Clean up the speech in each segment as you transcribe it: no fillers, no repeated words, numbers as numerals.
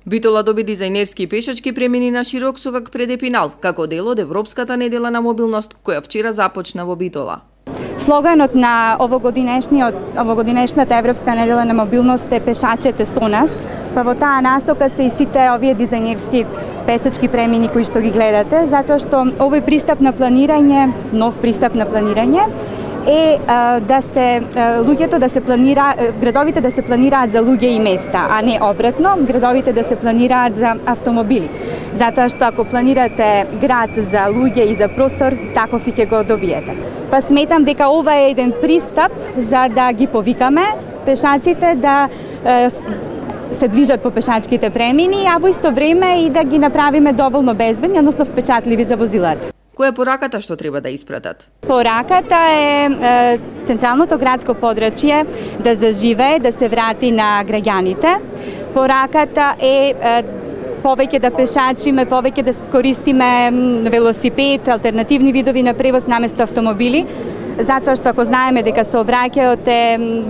Битола доби дизајнерски и пешачки премини на широк сокак пред Епинал, како дел од Европската недела на мобилност, која вчера започна во Битола. Слоганот на овогодинешната Европска недела на мобилност е "Пешачете со нас", па во таа насока се и сите овие дизајнерски пешачки премини кои што ги гледате, затоа што овој пристап на планирање, нов пристап на планирање, е да се луѓето да се планира, градовите да се планираат за луѓе и места, а не обратно, градовите да се планираат за автомобили. Затоа што ако планирате град за луѓе и за простор, таков и ќе го добиете. Па сметам дека ова е еден пристап за да ги повикаме пешаците да се движат по пешачките премини, а во исто време и да ги направиме доволно безбедни, односно впечатливи за возилата. Која е пораката што треба да испратат? Пораката е централното градско подрачје да заживее, да се врати на граѓаните. Пораката е повеќе да пешачиме, повеќе да користиме велосипед, алтернативни видови на превоз наместо автомобили, затоа што ако знаеме дека сообраќајот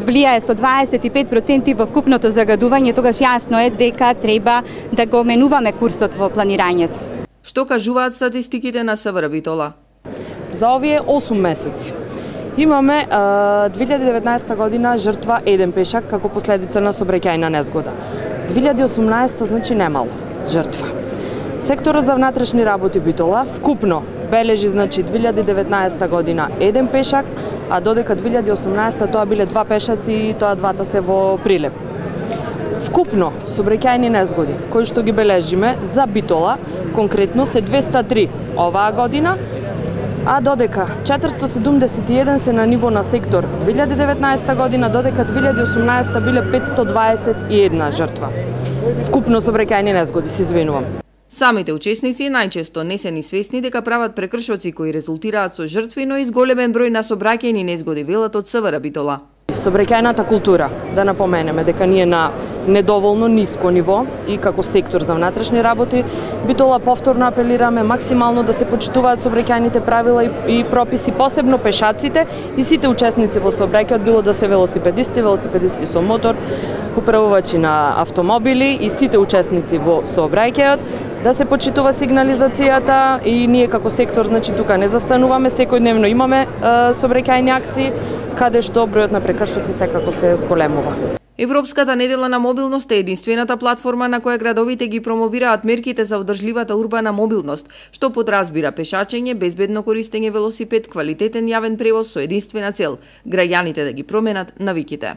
влијае со 25% во вкупното загадување, тогаш јасно е дека треба да го менуваме курсот во планирањето. Што кажуваат статистиките на СВР Битола? За овие 8 месеци имаме 2019 година жртва еден пешак како последица на сообраќајна незгода. 2018 значи немало жртва. Секторот за внатрешни работи Битола вкупно бележи значи 2019 година еден пешак, а додека 2018 тоа биле два пешаци и тоа двата се во Прилеп. Вкупно сообраќајни незгоди кои што ги бележиме за Битола конкретно се 203 оваа година, а додека 471 се на ниво на сектор 2019 година, додека 2018 биле 521 жртва. Вкупно сообраќајни незгоди, се извинувам. Самите учесници најчесто не се ни свесни дека прават прекршоци кои резултираат со жртви, но и зголемен број на сообраќајни незгоди, велат од СВР Битола. Сообраќајната култура, да напоменеме дека ние на недоволно ниско ниво и како сектор за внатрешни работи Битола повторно апелираме максимално да се почитуваат сообраќајните правила и прописи, посебно пешаците и сите учесници во сообраќајот, било да се велосипедисти со мотор, управувачи на автомобили и сите учесници во сообраќајот, да се почитува сигнализацијата и ние како сектор значи тука не застануваме, секојдневно имаме сообраќајни акции каде што бројот на прекршоци секако се зголемува. Европската недела на мобилност е единствената платформа на која градовите ги промовираат мерките за одржливата урбана мобилност, што подразбира пешачење, безбедно користење велосипед, квалитетен јавен превоз со единствена цел – граѓаните да ги променат навиките.